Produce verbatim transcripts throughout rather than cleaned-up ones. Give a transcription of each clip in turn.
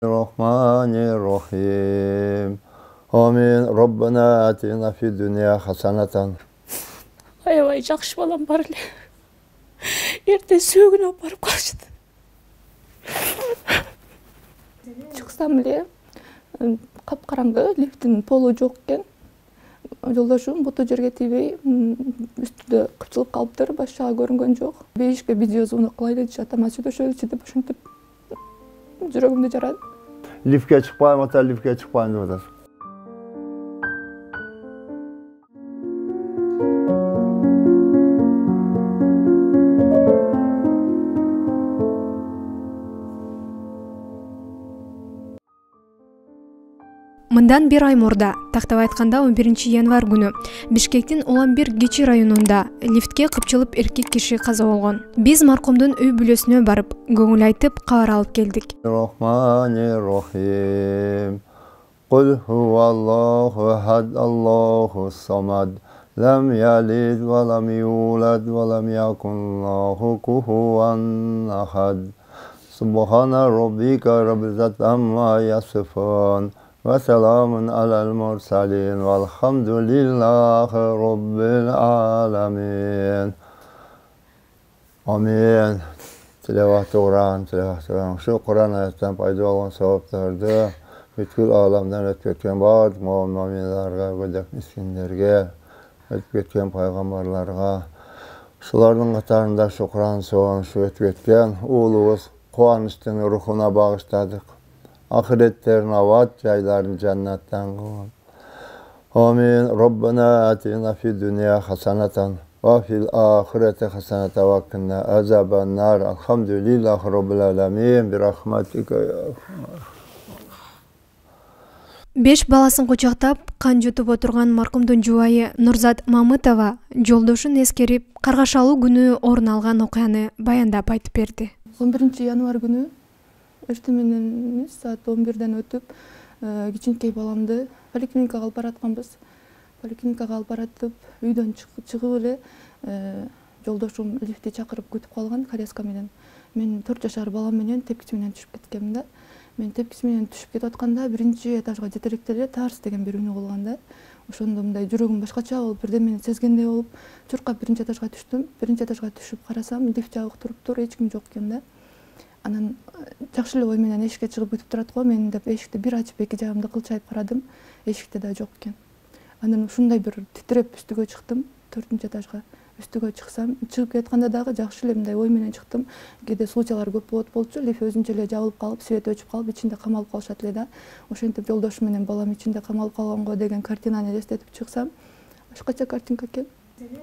Рахманир-рахим. Амин. Роббана атина фид дуния хасанатан. Аябай жакшы балам бар эле. Эрте сөөгүнө алып барып калышты. Чыксам эле капкараңгы, лифттин полу жок экен. Жолдошум буту жерге тийбей үстүдө кыпчылып калыптыр, баш жагы көрүнгөн жок. Бейишке видеозвонок кылайлы дешет, ама сүйлөшөлүчү деп ошентип жүрөгүмдү жарат. Лифтке чыкпайм ата, лифтке чыкпайм деп атат. Мындан бир ай мурда, тактап айтканда он биринчи январь күнү, Бишкектин Уланбир Кичи районунда лифтке кыпчылып эркек киши каза болгон. Биз маркумдун үй бүлөсүнө барып, көңүл айтып, кабар алып келдик. Рахманир-рахим. Кул хуаллаху ахад, Аллаху самад. Лам ялид ва лам юлад ва лам якун лаху куфуан ахад. Субхана роббика раббил иzzati amma ясифун. Ve selamun alel mursalin velhamdülillahi rabbil alamin. Amin. Tilavat-ı Kur'an, tilavat-ı Kur'an. Şu Kur'an ayetten payda olan sevaplardı. Bütün alemden ötüp ketken bardık mu'minlerge, gödek miskinlerge, ötüp ketken paygambarlarga. Şularının katarında şu Kur'an soğan, şu ötüp ketken uğulubuz kuanıştığın ruhuna bağışladık. Ahiretlerin avat jaylarini cennetten kılın. Amin. Rabbana atina fid dunya hasanatan ve fil ahireti hasanatan ve qina azaban nar. Elhamdülillahi rabbil alamin. Bir rahmatika ya. Беш баласын кучактап, кан жутуп отурган маркумдун жубайы Нурзат Мамытова жолдошун эскерип, каргашалуу күнү орун алган окуяны баяндап айтып берди. он биринчи январь күнү эртең менен саат он бирден өтүп, кичинекей баламды поликлиникага алып баратканбыз. Поликлиникага алып баратып, үйдөн чыгып эле жолдошум лифтти чакырып күтүп калган коляска менен. Мен төрт жашар балам менен тепкичи менен түшүп кеткенмин да. Мен тепкичи менен түшүп кетип атканда биринчи этажга жетеректе эле тарс деген бир үнү болгон да. Ошондо мындай жүрөгүм башкача болуп, бирдемени сезгендей болуп, чуркап биринчи этажга түштүм. Биринчи этажга түшүп карасам, лифт жабык туруптур, эч ким жок экен да. Анан жакшы эле ой менен эшикке чыгып күтүп турат го. Мен деп эшикти бир ачып эки жагымды кылчайып карадым. Эшикте да жок экен. Анан ушундай бир титиреп үстүгө чыктым, төртүнчү этажга. Үстүгө чыксам, чыгып кетканда дагы жакшы эле мындай ой менен чыктым. Кээде случайлар көп болот болчу, лифт өзүнчө эле жабылып калып, свет өчүп калып, ичинде камалып калышат эле да. Ошентип жолдошум менен балам ичинде камалып калганго деген картинаны элестетип чыксам, башкача картинка экен.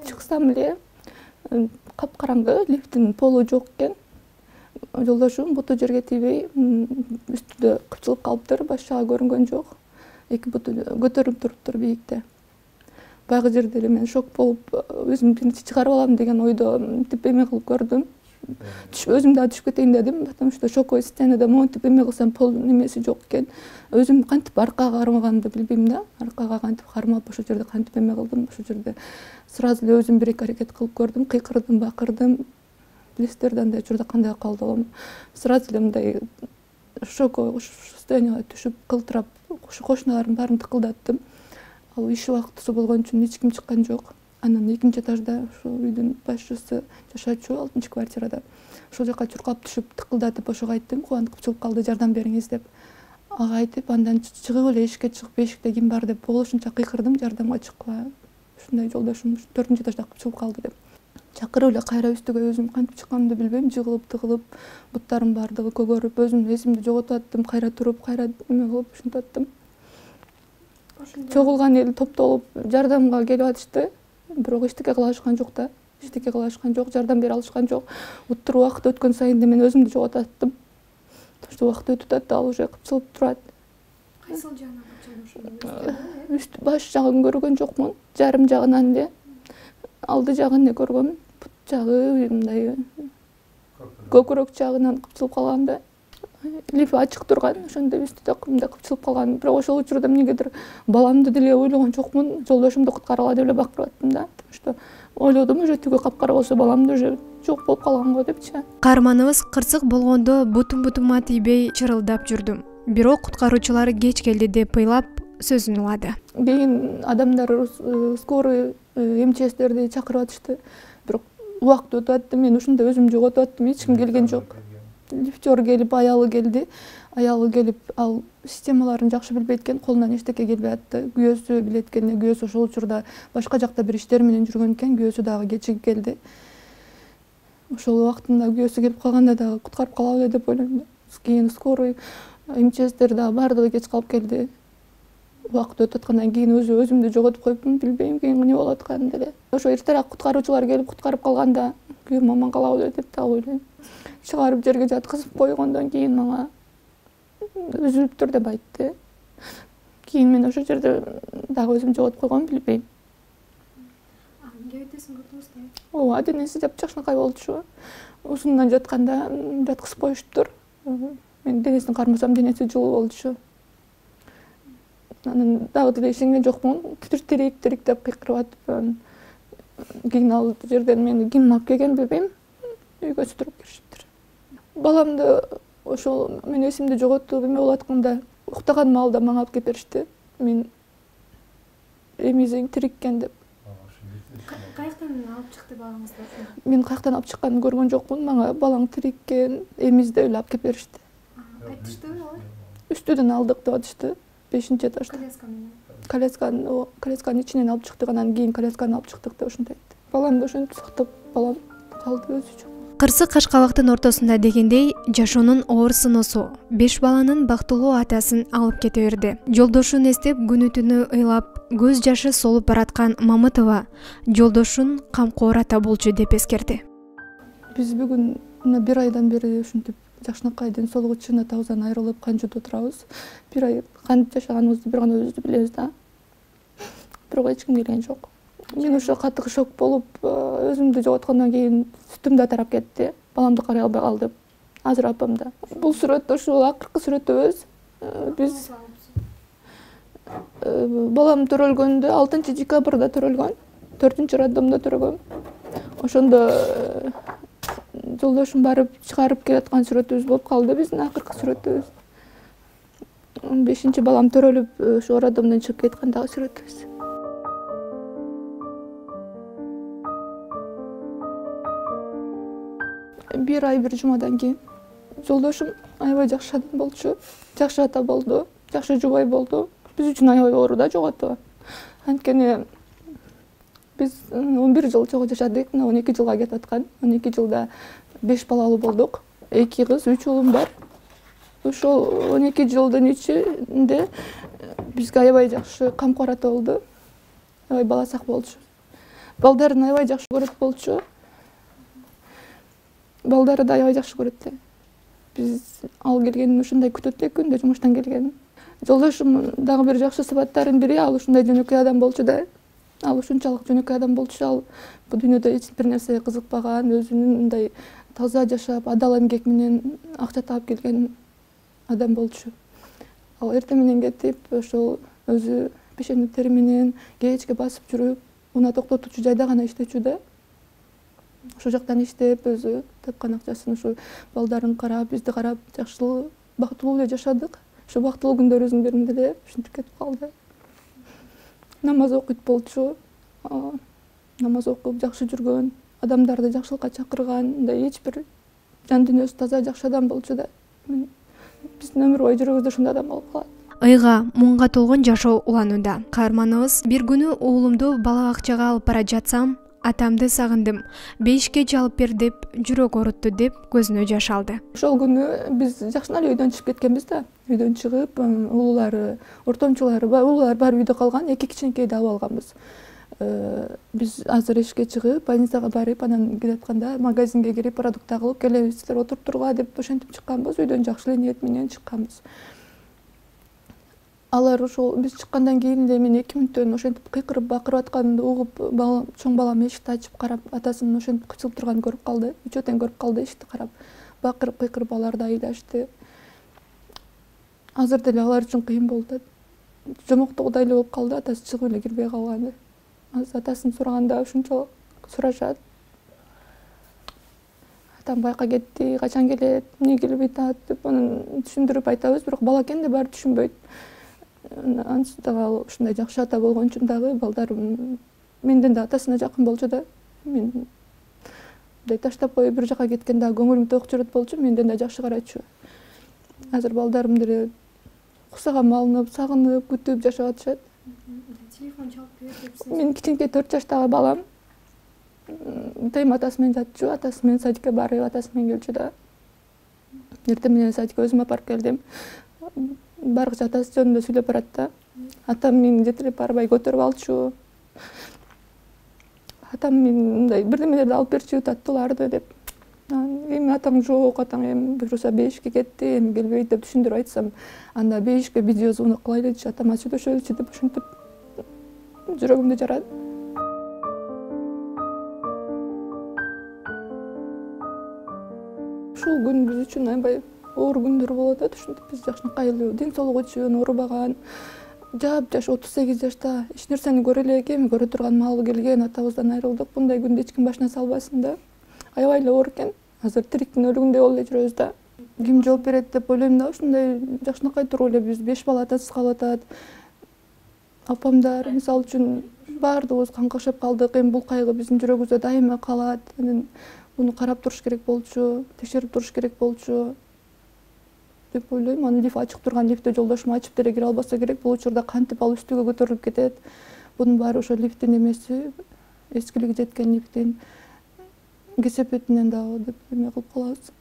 Чыксам эле капкараңгы, лифттин полу жок экен. Жолдошум буту жерге тийбей үстүдө кыпчылып калыптыр, баш жагы көрүнгөн жок. Эки буту көтөрүлүп туруптур бийикте. Баягы жерде эле мен шок болуп, өзүм биринчи чыгарып алам деген ойдо мынтип эме кылып көрдүм. Өзүм дагы түшүп кетейин дедим, потому что шоковое состояниеде монтип эме кылсам пол немеси жок экен. Өзүм кантип аркага кармаганымды билбейм да. Аркага кантип кармап ошол жерде кантип эме кылдым, ошол жерде сразу эле өзүм бир эки аракет кылып көрдүм, кыйкырдым, бакырдым. Билесиздер да андай учурда кандай калды болом. Сразу эле мындай шоковое состоянияга түшүп, кылтырап, кошуналардын баарын тыкылдаттым. Ал иш убактысы болгон үчүн эч ким чыккан жок. Анан экинчи этажда ошо үйдүн башчысы жашачу алтынчы квартирада. Ошол жака чуркап түшүп, тыкылдатып ошого айттым, кубанып кыпчылып калды, жардам бериңиз деп. Ага айтып, андан чыгып эле эшикке чыгып, эшикте ким бар деп болушунча кыйкырдым, жардамга чыккыла. Ушундай жолдошум төртүнчү этажда кыпчылып калды деп. Чакырып эле кайра үстүгө өзүм кантип чыкканымды билбейм, жыгылып, тыгылып, буттарым баардыгы көгөрүп, өзүм эсимди жоготуп аттым, кайра туруп, кайра эме кылып ушинтип аттым. Чогулган эл топтолуп жардамга келип атышты. Бирок эчтеке кыла алышкан жок да. Эчтеке кыла алышкан жок, жардам бере алышкан жок. Уттур убакыт өткөн сайын мен өзүмдү жоготуп аттым. Ошо убакыт өтүп атты, ал уже кыпчылып турат. Кайсыл жагына кыпчылып? Үст баш жагын көргөн жокмун, жарым жагынан эле. Алды жагын эле көргөм, бут жагы мындай көкүрөк жагынан кыпчылып калган да. Лифт ачык турган, ошондо үстү мындай кыпчылып калган. Бирок ошол учурда эмнегедир баламды деле ойлогон жокмун, жолдошумду куткаргыла деп эле бакырып аттым да. Что ойлодум, уже түгө капкара болсо баламды уже жок болуп калган го депчи. Каарманыбыз кырсык болгондо бутум-бутума тийбей чырылдап жүрдүм. бирок куткаруучулар кеч келди деп ыйлап сөзүн улады. Кийин адамдар скорый МЧСтерди чакырып атышты. Бирок убакыт өтүп атты. Мен ушунда өзүм жоготуп аттым. Эч ким келген жок. Лифтер келип, аялы келди. Аялы келип, ал системаларын жакшы билбейт экен, колунан эчтеке келбей атты. Күйөөсү билет экен, күйөөсү ошол учурда башка жакта бир иштер менен жүргөн экен, күйөөсү дагы кечигип келди. Ошол убактында күйөөсү келип калганда дагы куткарып калалы деп ойлойм. Кийин скорый МЧСтер дагы баардыгы кеч калып келди. Убакыт өтүп аткандан кийин өзү өзүмдү жоготуп коюпмун, билбейм кийин эмне болуп атканын деле. Ошо эртерээк куткаруучулар келип куткарып калганда күйөөм аман калабы деп дагы ойлойм. Чыгарып жерге жаткызып койгондон кийин мага үзүлүптүр деп айтты. Кийин мен ошол жерде дагы өзүм жоготуп койгонмун, билбейм. Эмне айтасың, көрдүңүзбү? Ооба, денеси жапжакшынакай болчу. Ушундан жатканда жаткызып коюштур. Мен денесин кармасам, денеси жылуу болчу. Анан дагы деле ишенген жокмун. Тирик, тирик деп кыйкырып атып, кийин ал жерден мени ким алып келгенин билбейм. Үйгө сүтүрүп келишиптир. Баламды ошол мен эсимди жоготуп эме болуп атканда уктаган маалда мага алып келип беришти. Мен эмизиң тирик экен деп. Каяктан алып чыкты балаңызды? Мен каяктан алып чыкканын көргөн жокмун. Мага балаң тирик экен, эмизди эле алып келип беришти. Айтыштыбы алар? Үстүдөн алдык деп атышты. бешинчи этажда. Коляска менен. Колясканы, о, колясканын ичинен алып чыктык, анан кийин колясканы алып чыктык деп ошентип айтты. Баламды ошентип сактап, балам калды өзү. Кырсык кашкалактын ортосунда дегендей, жашоонун оор сыноосу беш баланын бактылуу атасын алып кете берди. Жолдошун эстеп күнү түнү ыйлап, көз жашы солуп бараткан Мамытова жолдошун камкор ата болчу деп эскерди. Биз бүгүн мына бир айдан бери ушинтип жакшынакай ден соолугу чын атабыздан айрылып канчада отурабыз. Бир ай кантип жашаганыбызды бир гана өзүбүз билебиз да. Бирок эч ким келген жок. Мен ошо катты шок болуп, өзүмдү жоготкондон кийин сүтүм да тарап кетти. Баламды карай албай калдым. Азыр апамда. Бул сүрөт ушул акыркы сүрөтүбүз. Биз балам төрөлгөндө алтынчы декабрда төрөлгөн. төртүнчү роддомдо төрөгөм. Ошондо жолдошум барып чыгарып келаткан сүрөтүбүз болуп калды, биздин акыркы сүрөтүбүз. бешинчи балам төрөлүп, ошо роддомдон чыгып кеткендагы сүрөтүбүз. Бир ай бир жумадан кийин жолдошум аябай жакшы адам болчу. Жакшы ата болду, жакшы жубай болду. Биз үчүн аябай оор да жоготуу. Анткени биз он бир жыл чогуу жашадык, мына он эки жылга кетип аткан. он эки жылда беш балалуу болдук. эки кыз, үч уулум бар. Ошол он эки жылдын ичинде бизге аябай жакшы камкор ата болду. Аябай бала сак болчу. Балдарын аябай жакшы көрөт болчу. Балдары да аябай жакшы көрөт эле. Биз ал келгенин ушундай күтөт элек күндө жумуштан келгенин. Жолдошум дагы бир жакшы сыпаттарынын бири, ал ушундай жөнөкөй адам болчу да. Ал ушунчалык жөнөкөй адам болчу, ал бул дүйнөдө эч бир нерсеге кызыкпаган, өзүнүн мындай таза жашап, адал эмгек менен акча таап келген адам болчу. Ал эртең менен кетип, ошол өзү пешенектери менен кечке басып жүрүп, унаа токтотуучу жайда гана иштечү да. Ошол жактан иштеп, өзү тапкан акчасын ушу балдарын карап, бизди карап, жакшылуу, бактылуу эле жашадык. Ошо бактылуу күндөрүбүздүн биринде деле ушинтип кетип калды. Намаз окуйт болчу. Намаз окуп, жакшы жүргөн, адамдарды жакшылыкка чакырган, мындай эч бир жан дүйнөсү таза, жакшы адам болчу да. Биздин өмүр бою жүрөгүбүздө ушундай адам болуп калат. Ыйга, муңга толгон жашоо уланууда. Каарманыбыз: бир күнү уулумду бала бакчага алып бара жатсам, атамды сагындым, бейишке алып бер деп жүрөк оорутtu деп көзүнө жаш алды. Ошол күнү биз жакшына эле үйдөн чыгып кеткенбиз да. Үйдөн чыгып, уулулары, ортомчулары, уулулар баары үйдө калган, эки кичинекейди алып алганбыз. Биз азыр эшикке чыгып, больницага барып, анан келатканда магазинге кирип, продукт алып келебиздер, отуруп тургула деп ошентип чыкканбыз. Үйдөн жакшы эле ниет менен чыкканбыз. Алар ошол биз чыккандан кийин эле мен эки мүнөттөн ошентип кыйкырып бакырып атканымды угуп, балам, чоң балам эшикти ачып карап, атасынын ошентип кычылып турганын көрүп калды. Үчөө тең көрүп калды эшикти карап. Бакырып кыйкырып алар да ыйлашты. Азыр деле алар үчүн кыйын болду. Жомоктогудай эле болуп калды, атасы чыгып эле кирбей калганы. Азыр атасын сураганда ушунчалык сурашат. атам байка кетти, качан келет, эмне келбей атат деп анан түшүндүрүп айтабыз, бирок бала экен да баары түшүнбөйт. Анысы дагы ушундай жакшы ата болгон үчүн дагы балдарым менден да атасына жакын болчу да. Мен мындай таштап коюп бир жака кеткен дагы көңүлүм ток жүрөт болчу, менден да жакшы карачу. Азыр балдарым деле кусага малынып, сагынып, күтүп жашап атышат. Телефон чалып берип Мен кичинекей төрт жаштагы балам тайм атасы менен жатчу, атасы менен садикке барып, атасы менен келчү да. Эртең менен садикке өзүм апарып келдим. Баргыча атасы жөнүндө сүйлөп барат да. Атам мени жетелеп барбай көтөрүп алчу. Атам мени мындай бирдемелерди алып берчү, таттууларды деп. Эми атаң жок, атаң эми буюрса бейишке кетти, эми келбейт деп түшүндүрүп айтсам, анда бейишке видео звонок кылайлычы, атама сүйлөшөлүчү деп ушинтип жүрөгүмдү жарат. Ушул күн биз үчүн аябай оор күндөр болот да, ушинтип биз жакшынакай эле ден соолугу үчүн оорубаган, жап-жаш отуз сегиз жашта эч нерсени көрө элек, эми көрө турган маалы келген, атабыздан айрылдык. Мындай күндү эч ким башына салбасын да. Аябай эле оор экен. Азыр тириктин өлүгүндөй болуп эле жүрөбүз да. Ким жооп берет деп ойлойм да, ушундай жакшынакай туруп эле биз беш бала атасыз калып атат. Апамдар мисалы үчүн баардыгыбыз каңкашып калдык. Эми бул кайгы биздин жүрөгүбүздө дайыма калат. Анан буну карап туруш керек болчу, текшерип туруш керек болчу деп ойлойм. Аны лифт ачык турган лифтти жолдошум ачып деле кире албаса керек. Бул учурда кантип ал үстүгө көтөрүлүп кетет. Бунун баары ошо лифттин эмеси, эскилиги жеткен лифттин кесепетинен дагы деп эме кылып калабыз.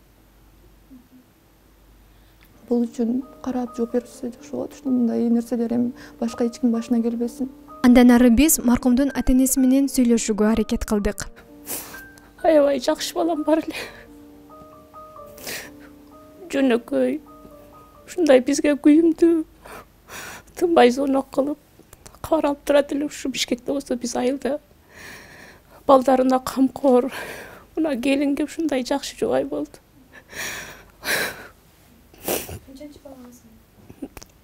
Бул үчүн карап жооп берсе жакшы болот. Ушундай нерселер эми башка эч ким башына келбесин. Андан ары биз маркумдун ата-энеси менен сүйлөшүүгө аракет кылдык. Аябай жакшы балам бар эле. Жөнөкөй. Ушундай бизге күйүмдүү, тынбай звонок кылып, кабар алып турат эле. Ушу Бишкекте болсо биз айылда балдарына камкор, мына келинге ушундай жакшы жубай болду. Канчанчы балаңыз?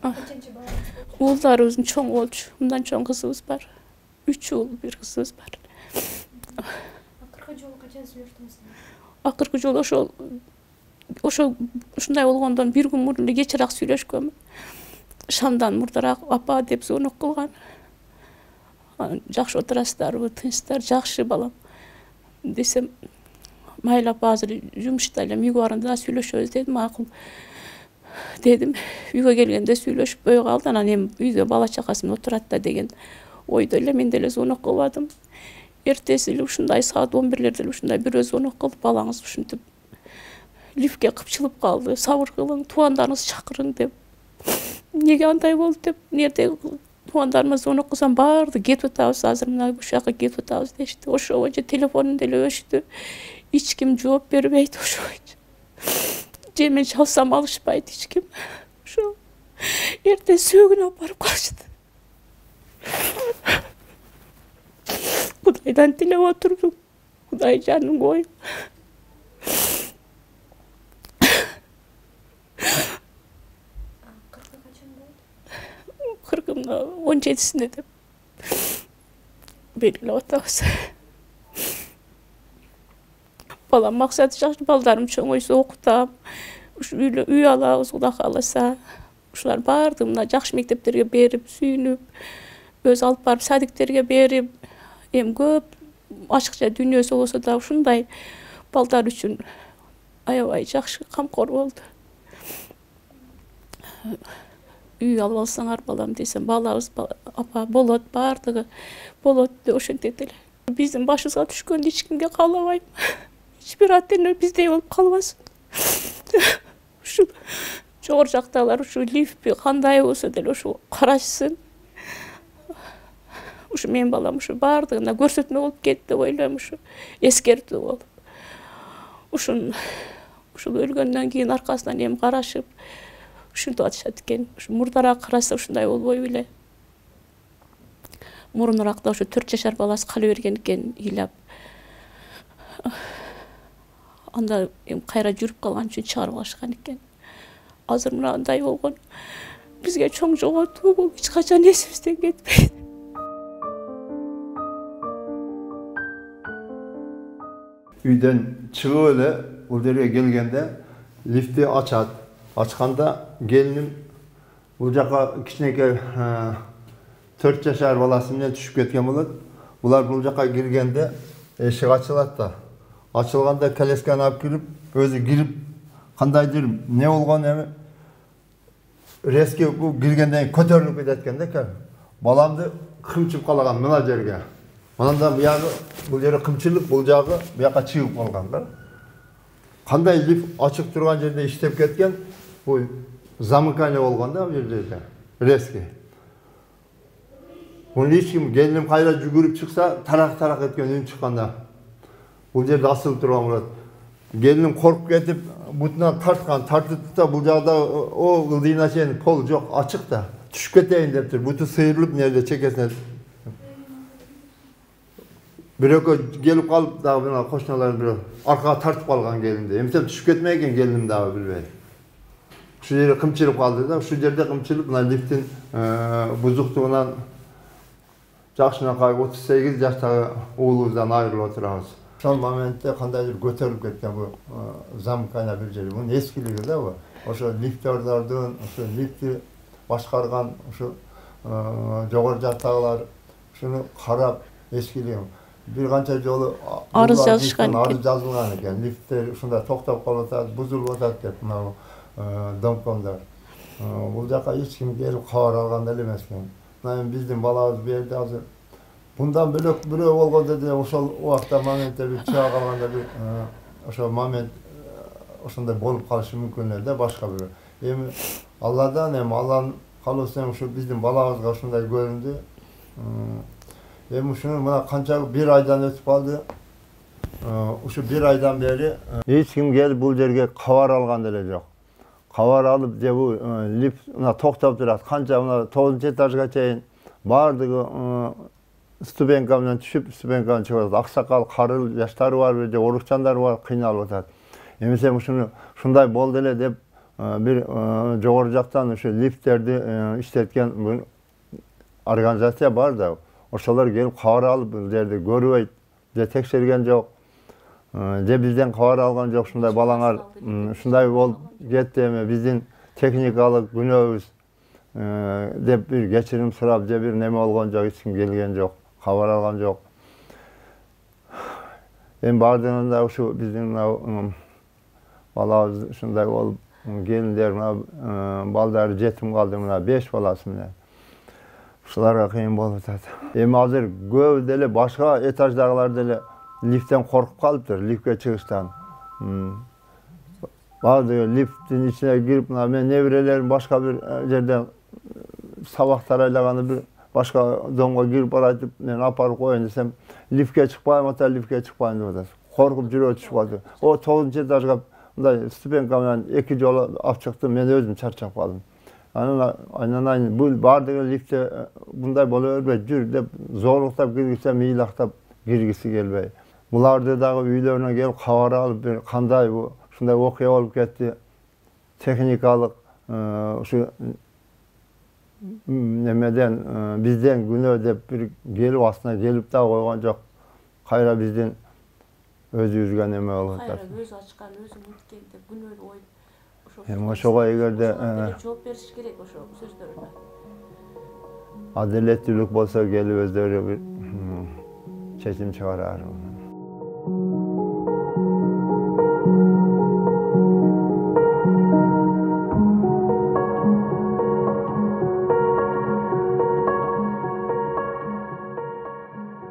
Канчанчы балаңыз? Уулдарыбыздын чоң болчу. Мындан чоң кызыбыз бар. Үч уул, бир кызыбыз бар. Акыркы жолу качан сүйлөштүңүз? Акыркы жолу ошол ошо ушундай болгондон бир күн мурун эле кечираак сүйлөшкөнмүн. Шамдан мурдараак апа деп звонок кылган. Жакшы отурасыздарбы, тынчсыздар, жакшы балам десем, майыл апа азыр жумушта элем, үйгө барганда сүйлөшөбүз дедим. Макул дедим. Үйгө келгенде сүйлөшпөй калды. Анан эми үйдө бала чакасы менен отурат да деген ойдо эле мен деле звонок кылбадым. Эртеси эле ушундай саат он бирлерде эле ушундай бирөө звонок кылып, балаңыз ушинтип лифтке кыпчылып калды, сабыр кылың, туугандарыңызды чакырың деп. Эмнеге андай болду деп, эмнеде туугандарыма звонок кылсам баарды кетип атабыз, азыр мына ушул жака кетип атабыз дешти. Ошо боюнча телефонун деле өчтү. Эч ким жооп бербейт ошо боюнча. Же мен чалсам алышпайт эч ким. Ошо эртең сөөгүнө алып барып калышты. Кудайдан тилеп отурдум. Кудай жанын коюп. Кыркымда он жетисинде деп белгилеп атабыз. Балам максаты жакшы, балдарым чоңойсо окутам, үй алабыз, Кудай кааласа. Ушулар баардыгы мына жакшы мектептерге берип, сүйүнүп, өз алып барып садиктерге берип, эми көп ачыкча дүйнөсү болсо да ушундай балдар үчүн аябай жакшы камкор болду. Үй алып алсаңар балам десем, балабыз апа болот, баардыгы болот деп ошентет эле. Биздин башыбызга түшкөндү эч кимге каалабайм. Эч бир ата-эне биздей болуп калбасын. Ушу жогору жактагылар ушу лифтпи кандай болсо деле ушу карашсын. Ушу менин балам ушу баардыгына көрсөтмө болуп кетти деп ойлойм, ушу эскертүү болуп. Ушун ушул өлгөндөн кийин аркасынан эми карашып ушинтип атышат экен. Ушу мурдараак караса ушундай болбой беле. Мурунуракта ушу төрт жашар баласы кала берген экен ыйлап. Анда эми кайра жүрүп калган үчүн чыгарып алышкан экен. Азыр мындай болгон. Бизге чоң жоготуу бул эч качан эсибизден кетпейт. Үйдөн чыгып эле бул жерге келгенде лифти ачат. Ачканда келиним бул жака кичинекей төрт жашар баласы менен түшүп кеткен болот. Булар бул жака киргенде эшик ачылат да. Ачылганда колясканы алып кирип, өзү кирип кандайдыр не болгон эми резки бул киргенден көтөрүлүп кетет экен да. Баламды кымчып калаган мына жерге. Анан буягы бул жери кымчылык, бул жагы буяка чыгып калган да. Кандай лифт ачык турган жерде иштеп кеткен, бул замыкание болгон да бул жерде. Резки. Бул эч ким келиним кайра жүгүрүп чыкса, тарак-тарак эткен үн чыкканда. Бул жерде асылып турган болот. Келиним коркуп кетип, бутунан тарткан, тартып да бул жагда о ылдыйына чейин пол жок, ачык да. Түшүп кетейин дептир. Буту сыйрылып, нерде чекесине. Бирөкө келип калып дагы мына кошуналар бирөө аркага тартып калган келинди. Эмсе түшүп кетмей экен келиним дагы билбей. Ушул жерде кымчылып калды да, ушул жерде кымчылып, мына лифттин бузуктугунан жакшынакай отуз сегиз жаштагы уулубуздан айрылып отурабыз. Ошол моментте кандайдыр көтөрүлүп кеткен бу замкана бир жери. Бунун эскилиги да бу. Ошо лифтердердин, ошо лифти башкарган ошо жогору жактагылар ушуну карап эскилиги. Бир канча жолу арыз жазышкан экен. Арыз жазылган экен. Лифттер ушундай токтоп калып атат, бузулуп атат деп мына домкомдор. Бул жака эч ким келип кабар алган деле эмес экен. Мына биздин балабыз бу жерде азыр bundan bölök bürөө болгондо деле ошол убакта моментте бир чыга калганда бир ошол момент ошондой болуп калышы мүмкүн эле да башка бирөө. Эми Алладан эми Алланын каалоосу ушу биздин балабызга ушундай көрүндү. Эми ушуну мына канча бир айдан өтүп калды. Ушу бир айдан бери эч ким келип бул жерге кабар алган деле жок. Кабар алып же бул лифт мына токтоп турат. Канча мына тогузунчу этажга чейин баардыгы ступенька менен түшүп, ступеньканы чыгып атат. Аксакал, карыл жаштары бар, же орукчандар бар, кыйналып атат. Эмесе ушуну ушундай болду эле деп бир жогору жактан ушу лифттерди иштеткен организация бар да. Ошолор келип кабар алып бул жерди көрбөйт, же текшерген жок. Же бизден кабар алган жок, ушундай балаңар ушундай болуп кетти, эми биздин техникалык күнөөбүз деп бир кечирим сурап, же бир неме болгон жок, эч ким келген жок, кабар алган жок. Эми бардыгында да ушу биздин балабыз ушундай болуп, келиндер мына балдары жетим калды, мына беш баласы менен. Ушуларга кыйын болуп атат. Эми азыр көбү деле башка этаждагылар деле лифттен коркуп калыптыр, лифтке чыгыштан. Баардыгы лифттин ичине кирип, мына мен неберелерим башка бир жерден сабак тарайлаганы бир башка домго кирип баратып, мен апарып коеюн десем, лифтке чыкпайм ата, лифтке чыкпайм деп атат. Коркуп жүрөгү түшүп калды. О тогузунчу этажга мындай ступенька менен эки жолу алып чыктым, мен өзүм чарчап калдым. Анан айнанайын бул баардыгы лифтте мындай боло бербейт, жүр деп зорлуктап киргизсем, ыйлактап киргиси келбей. Буларды дагы үйлөрүнө келип кабар алып, бир кандай бу ушундай окуя болуп кетти. Техникалык ушу немеден бизден күнөө деп бир келип астына келип да койгон жок. Кайра биздин өзүбүзгө неме болуп атат. Кайра өз ачкан, өзү муткен деп күнөөнү коюп Эми ошого эгерде жооп бериш керек ошо сөздөрүнө. Адилеттүүлүк болсо келип өздөрү бир чечим чыгарар.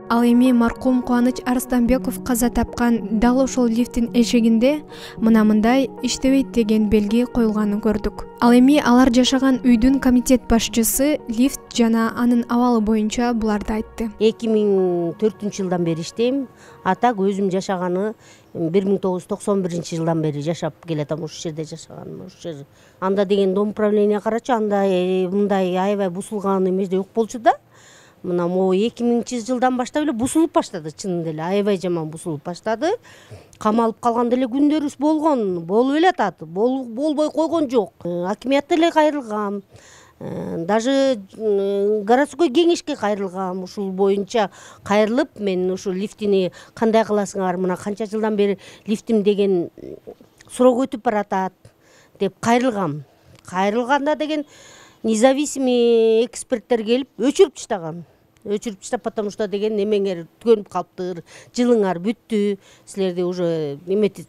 Ал эми маркум Кубаныч Арыстанбеков каза тапкан дал ошол лифттин эшигинде мына мындай иштебейт деген белги коюлганын көрдүк. Ал эми алар жашаган үйдүн комитет башчысы лифт жана анын абалы боюнча буларды айтты. эки миң төртүнчү жылдан бери иштейм. А так өзүм жашаганы бир миң тогуз жүз токсон биринчи жылдан бери жашап келатам, ушул жерде жашаганым. Ушул жер. Анда деген дом управление карачы, анда мындай аябай бусулган эмес жок болчу да. Мына могу эки миңинчи жылдан баштап эле бусулуп баштады, чынында эле аябай жаман бусулуп баштады. Камалып калган деле күндөрүбүз болгон, болуп эле атат, болбой койгон жок. Акимият деле кайрылган. Даже городской кеңешке кайрылгам, ушул боюнча кайрылып мен ушу лифтини кандай кыласыңар, мына канча жылдан бери лифтим деген срок өтүп баратат деп кайрылгам. Кайрылганда деген независимый эксперттер келип өчүрүп таштаган. Өчүрүп таштап, потому что деген немеңер түгөнүп калыптыр, жылыңар бүттү, силерди уже эметип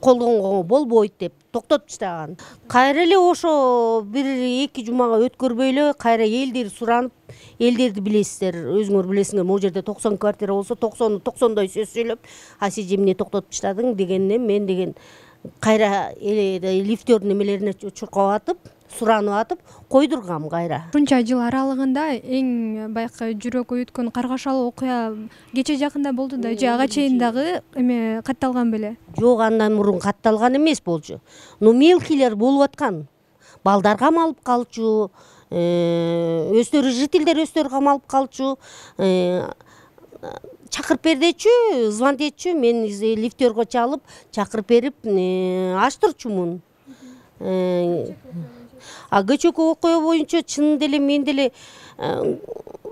колдонгонго болбойт деп токтотуп таштаган. Кайра эле ошо бир эки жумага өткөрбөй эле кайра элдер суранып, элдерди билесиздер, өзүңөр билесиңер, могу жерде токсон квартира болсо токсону токсондой сөз сөйлөп, а сен эмне токтотуп таштадың дегенде мен деген кайра лифтердин немелерине чуркап атып, суранып атып койдургам кайра. Ушунча жыл аралыгында эң баягы жүрөк өйүткөн каргашалуу окуя кече жакында болду да, же ага чейин дагы эме катталган беле? Жок, андан мурун катталган эмес болчу. Но мелкийлер болуп аткан. Балдар камалып калчу, өздөрү жителдер өздөрү камалып калчу. Чакырып бер дечү, звонить этчү, мен лифтерге чалып, чакырып берип, ачтырчумун. А кечээки окуя боюнча чын деле мен деле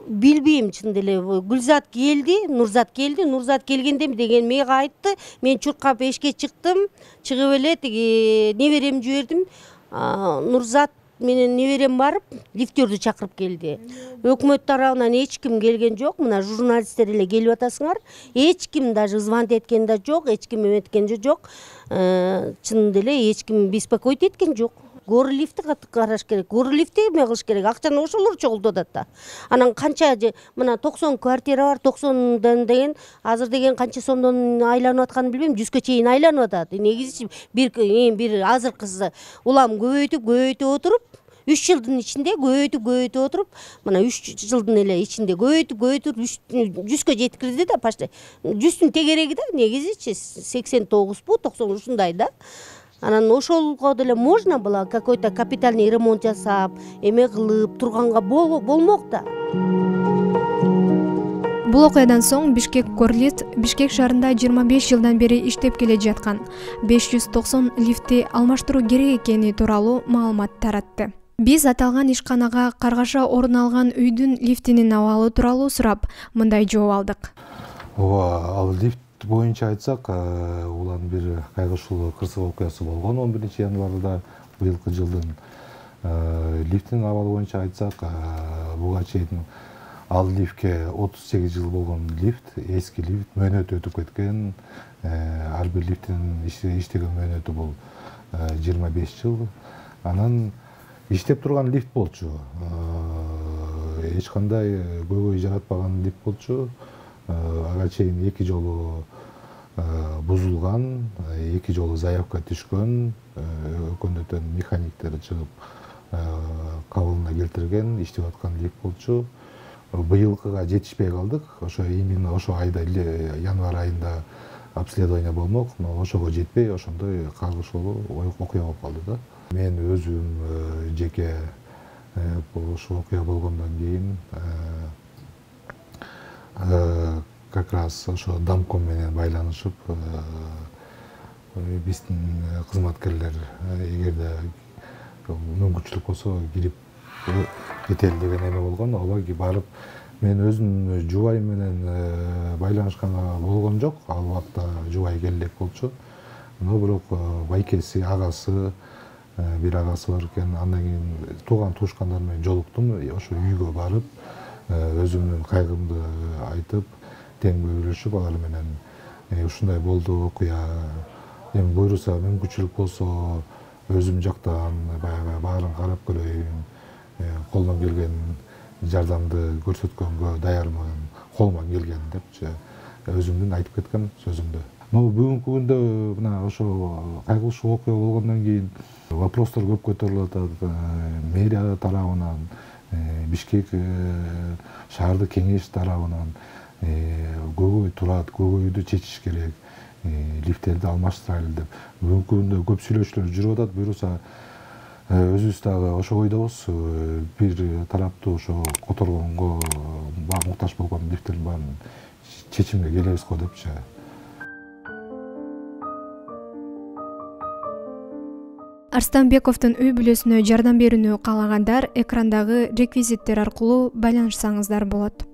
билбейм, чын деле Гүлзат келди, Нурзат келди, Нурзат келгенде деген мага айтты, мен чуркап эшикке чыктым, чыгып эле тиги неберем жибердим. Нурзат менен неберем барып, лифтерди чакырып келди. Өкмөт тарабынан эч ким келген жок, мына журналисттер эле келип атасыңар. Эч ким даже звонить эткен да жок, эч ким эметкен жок. Чын деле эч ким беспокоить эткен жок. Гору лифти караш керек. Гору лифти эме кылыш керек. Акчаны ошолор чогултуп атат да. Анан канча мына токсон квартира бар, токсондан деген азыр деген канча сомдон айланып атканын билбейм, жүзгө чейин айланып атат. Негизи бир бир азыркысы улам көбөйтүп көбөйтүп отуруп, үч жылдын ичинде көбөйтүп көбөйтүп отуруп, мына үч жылдын эле ичинде көбөйтүп көбөйтүп жүзгө жеткирди да, почти. жүздүн тегереги да, негизичи сексен тогузбу, токсон ушундай да. Анан ошолго деле можно было какой-то капитальный ремонт жасап, эме кылып турганга болмок да. Бул окуядан соң Бишкек Горлифт Бишкек шаарында жыйырма беш жылдан бери иштеп келе жаткан беш жүз токсон лифти алмаштыруу керек экени тууралуу маалымат таратты. Биз аталган ишканага каргаша орун алган үйдүн лифтинин абалы тууралуу сурап, мындай жооп алдык. Ооба, ал лифт боюнча айтсак, улан бир кайгылуу кырсык окуясы болгон он биринчи январда быйылкы жылдын. Лифттин абалы боюнча айтсак, буга чейин ал лифтке отуз сегиз жыл болгон лифт, эски лифт мөөнөтү өтүп кеткен. Ар бир лифттин иштеген мөөнөтү бул жыйырма беш жыл. Анан иштеп турган лифт болчу. Эч кандай көйгөй жаратпаган лифт болчу. Ага чейин эки жолу бузулган, эки жолу заявка түшкөн, өкмөттөн механиктер чыгып кабылына келтирген, иштеп аткан лифт болчу. Быйылкыга жетишпей калдык. Ошо именно ошо айда, январь айында обследование болмок, но ошого жетпей, ошондой кайгылуу окуя болуп калды да. Мен өзүм жеке ушул окуя болгондон кийин как раз ошо Дамком менен байланышып, биздин кызматкерлер эгерде мүмкүнчүлүк болсо кирип кетели деген эме болгон. Ооба, барып мен өзүм жубайым менен байланышканга болгон жок. Ал убакта жубай келе элек болчу. Но бирок байкеси, агасы, бир агасы бар экен. Андан кийин тууган туушкандар менен жолуктум. Ошо үйгө барып, өзүмдүн кайгымды айтып, тең бөлүшүп, алар менен ушундай болду окуя. Эми буйруса, мүмкүнчүлүк болсо өзүм жактан баягы баарын карап көрөйүн, колдон келген жардамды көрсөткөнгө даярмын, колуман келген депчи өзүмдүн айтып кеткем сөзүмдү. Но бүгүнкү күндө мына ошо кайгылуу окуя болгондон кийин вопростор көп көтөрүлүп атат. Мэрия тарабынан, Бишкек шаардык кеңеш тарабынан көйгөй турат, көйгөйдү чечиш керек, лифттерди алмаштырайлы деп. Бүгүнкү күндө көп сүйлөшүүлөр жүрүп атат. Буюрса өзүбүз дагы ошо ойдобуз, бир тараптуу ошо которгонго муктаж болгон лифттердин баарын чечимге келебиз го депчи. Арстанбековдун үй бүлөсүнө жардам берүүнү каалагандар экрандагы реквизиттер аркылуу байланышсаңыздар болот.